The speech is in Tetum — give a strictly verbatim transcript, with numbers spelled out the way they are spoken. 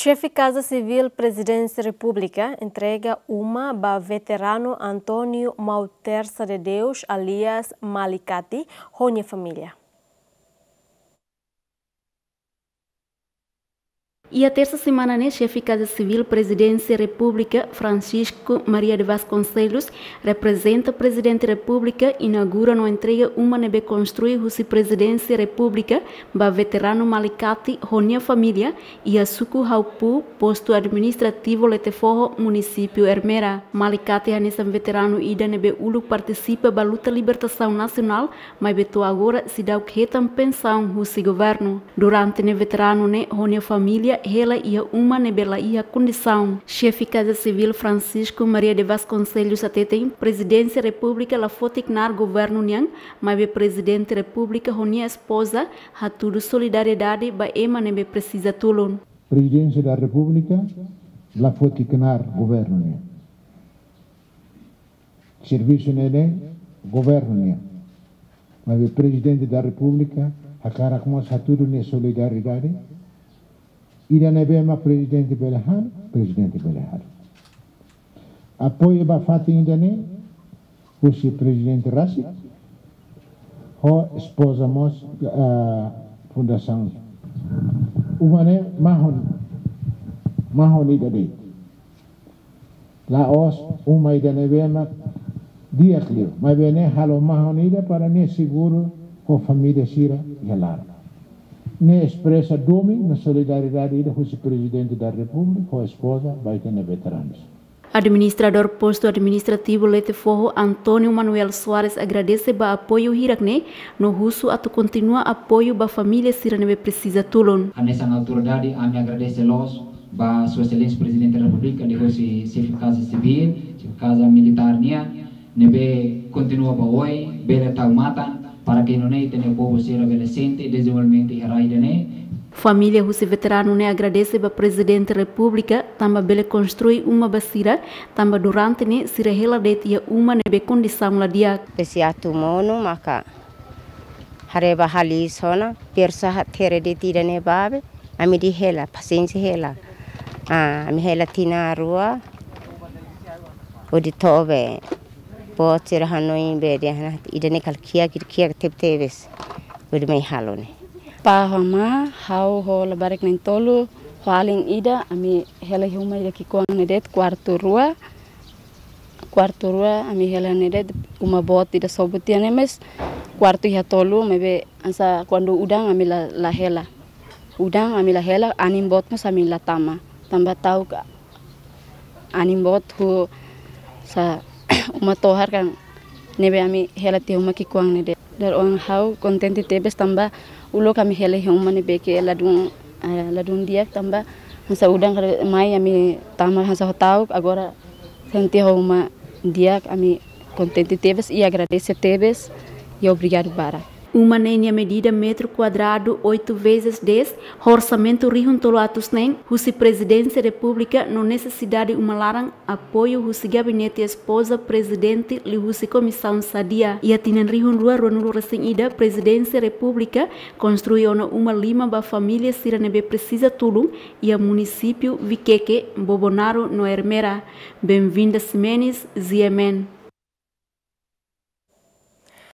Xefe Kaza Sivíl Prezidénsia Repúblika entrega uma ba veteranu António Mau Tersa de Deus, alias Malikati, ho nia família. Iha tersa semana ne'e, Xefe Kaza Sivíl Prezidénsia Repúblika, Francisco Maria de Vasconcelos, reprezenta Prezidente Repúblika, inaugura no entrega uma ne'ebé konstrui husi Prezidénsia Repúblika ba veteranu Malikati ho nia família, iha suku Haupu, postu administrativu Letefoho, munisípiu Ermera. Malikati hanesan veteranu ida ne'ebé uluk partisipa ba luta libertasaun nasionál, maibé to'o agora seidauk hetan pensaun husi governu. Durante ne'e veteranu ne'e ho nia família hela iha uma ne'ebé la iha kondisaun. Xefe Kaza Sivíl Francisco Maria de Vasconcelos hateten, Prezidénsia Repúblika la foti knaar governu nian, maibé Prezidente Repúblika ho nia espoza hatudu solidariedade ba ema ne'ebé presiza tulun. Prezidénsia da Repúblika la foti knaar governu nian. Servisu ne'e governu nian. Maibé Prezidente da Repúblika hakarak mós hatudu nia solidariedade. Ida ne'ebé mak Prezidente bele halo, Prezidente bele halo. Apoiu ba fatin ida-ne'e husi Prezidente rasik ho espoza mós, ah, fundasaun. Uma ne'e mahon, mahon ida de'it. La'ós uma ida ne'ebé mak di'ak liu. Maibé ne'e halo mahon ida para nia seguru ho família sira iha laran. Ne'e espresa domin no solidariedade ida husi Prezidente da Repúblika ho espoza ba ita-nia veteranus. Administradór Postu Administrativu Letefoho, António Manuel Soares, agradese ba apoiu hirak-ne'e, no husu atu kontinua apoiu ba família sira ne'ebé presiza tulun. Hanesan autoridade, ami agradese loos ba Sua Exelénsia Prezidente Repúblika, liuhosi Xefe Kaza Sivíl, Xefe Kaza Militár nian, ne'ebé kontinua ba oin, bele tau matan, para ke nune'e ita-nia povu sira bele sente dezenvolvimentu iha rai ida-ne'e. Família husi veteranu ne'e agradese ba Prezidente Repúblika, tanba bele konstrui uma ba sira, tanba durante ne'e sira hela de'it iha uma ne'ebé kondisaun la di'ak. Pesi atu monu maka haree ba hali sona, persa ha tere de'it ida-ne'e ba be, ami dehan hela, pasiénsia hela. Ah, ami hela tinan rua, hodi to'o be, boot sira hanoin be dehan ida-ne'e kala kiak, kiak tebetebes. Hodi mai halo ne'e. Pá ho amá, ha'u ho labarik na'in-tolu, ho alin ida, ami hela iha uma ida ki'ikoan ne'e de'it, kuartu rua. Kuartu rua ami hela ne'e de'it, uma boot ida sobu tiha ne'e, mas kuartu iha tolu, maibé hanesan kuandu udan ami la, la hela. Udan ami la hela, anin boot mós ami la tama. Tanba ta'uk anin boot husi uma tohar kan, ne'ebé ami hela tiha uma ki'ikoan ne'e de'it. Dala ruma ha'u kontente tebes tanba uluk ami hela iha uma ne'ebé ke ladún, eh, ladún di'ak tanba hanesan udan kada mai ami tama hanesan ho ta'uk, agora sente ho uma di'ak, ami kontente tebes i agradese tebes i obrigadu barak. Uma ne'e nia medida metru kuadradu oito vezes dez, ho orsamentu rihun tolu atus neen, husi Prezidénsia Repúblika no nesesidade uma laran apoiu husi Gabinete Espoza Prezidente liuhusi Komisaun Sadia. Iha tinan rihun rua ruanulu resin ida, Prezidénsia Repúblika konstrui ona uma lima ba família sira ne'ebé presiza tulun iha munisípiu Viqueque, Bobonaro no Ermera. Benvinda Ximenes, G M N.